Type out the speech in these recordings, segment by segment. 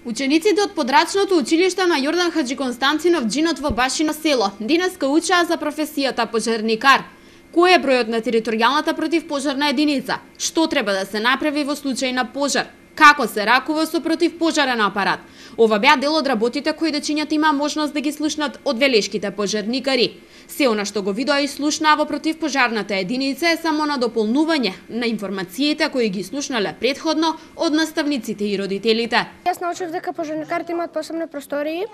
Учениците од подрачното училиште на Јордан Хаџиконстантинов Џинот во Башино село денеска учаа за професијата пожарникар. Кој е бројот на територијалната противпожарна единица? Што треба да се направи во случај на пожар? Како се ракува со противпожарен апарат? Ова беа дел од работите кои дечињата има можност да ги слушнат од велешките пожарникари. Се она што го видоа и слушнаа во противпожарната единица е само на дополнување на информациите кои ги слушнале предходно од наставниците и родителите. Јас научив дека пожарникарите имаат посебни простории,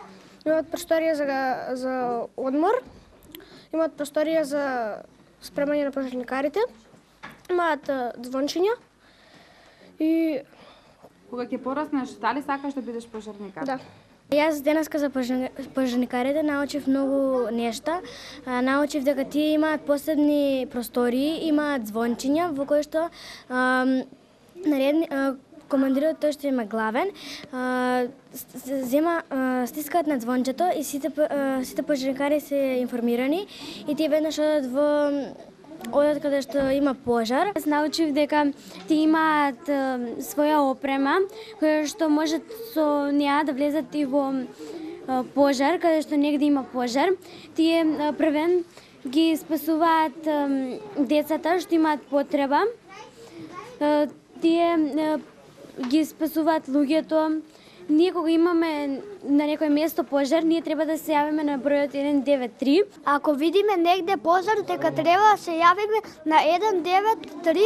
имаат просторија за одмор, имаат просторија за спремање на пожарникарите, имаат звончиња и кога ќе пораснеш, дали сакаш да бидеш пожарникар? Да. Јас денеска за пожарникарите научив многу нешта. Научив дека тие имаат посебни простории, имаат звончиња во кои што командирот, тој што има главен, стискаат на звончето и сите пожарникари се информирани и тие веднаш одат каде што има пожар. Јас научив дека тие имаат своја опрема, која што можат со неа да влезат и во пожар, каде што негде има пожар. Тие првен ги спасуваат децата што имаат потреба. Тие ги спасуваат луѓето. Ние кога имаме на некој место пожар, ние треба да се јавиме на бројот 193. Ако видиме негде пожар, дека треба да се јавиме на 193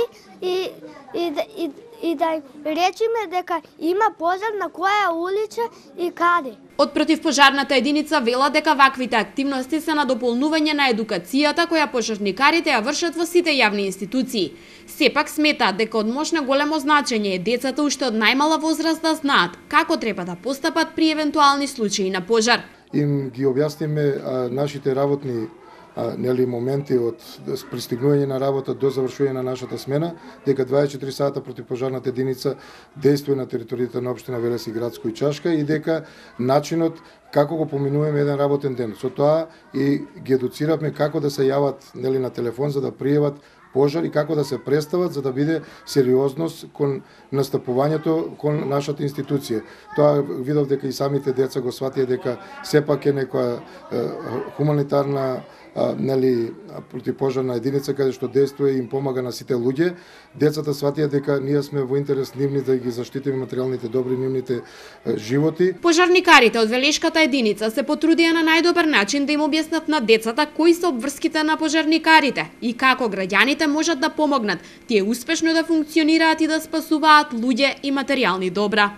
и да речиме дека има пожар на која улица и каде. Од противпожарната единица вела дека ваквите активности се на дополнување на едукацијата која пожарникарите ја вршат во сите јавни институции. Сепак сметаат дека од мощно големо значење е децата уште од најмала возраст да знаат како треба да постапат при евентуални случаи на пожар. Им ги објасниме нашите работни моменти од пристигнување на работа до завршување на нашата смена, дека 24 сата противпожарната единица действува на територијата на општина Велес и Градско и Чашка и дека начинот како го поминуваме еден работен ден. Со тоа и ги едуциравме како да се јават на телефон за да пријават пожар и како да се представат за да биде сериозност кон настапувањето кон нашата институција. Тоа видов дека и самите деца го сватија дека сепак е некоја хуманитарна противпожарна единица каде што действува и им помага на сите луѓе. Децата сватија дека ние сме во интерес нивни да ги заштитиме материјалните добри нивните животи. Пожарникарите од велешката единица се потрудија на најдобар начин да им објаснат на децата кои се обврските на пожарникарите и како граѓаните можат да помогнат тие успешно да функционираат и да спасуваат луѓе и материјални добра.